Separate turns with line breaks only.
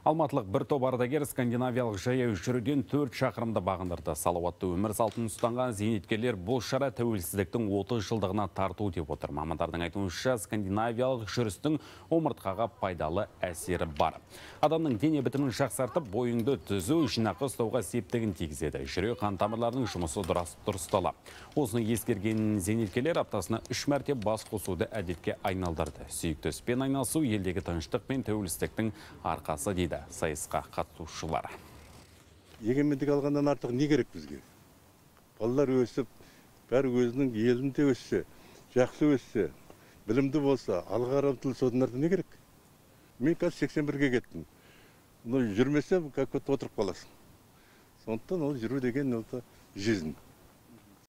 Алматылық бір топ ардагер скандинавиялық жаяу жүруден 4 шақырымды бағындырды. Салауатты өмір салтын ұстанған зейнеткерлер бұл шара тәуелсіздіктің 30 жылдығына тарту деп отыр. Мамандардың айтуынша скандинавиялық жүрістің омыртқаға пайдалы әсері бар. Адамның дене бітімін жақсартып, бойыңды түзу, жинақы ұстауға септігін тигізеді. Жүрек қан тамырларының жұмысы дұрыстала. Осыны ескерген зейнеткерлер аптасына 3 мәрте бас қосуды әдетке айналдырды. Сүйікті іспен айналысу елдегі тыныштық пен тәуелсіздіктің арқасы дейді сайысқа қатысушылар.
Егемендік алғаннан артық не керек бізге? Балалар өсіп, бәрі өзінің елінде өссе, жақсы өссе, білімді болса, алға ұмтылса, содан артық не керек? Мен қазір 81-ге кеттім. Жүрмесе, как отырып қаласың. Сондықтан ол жүру деген жизнь.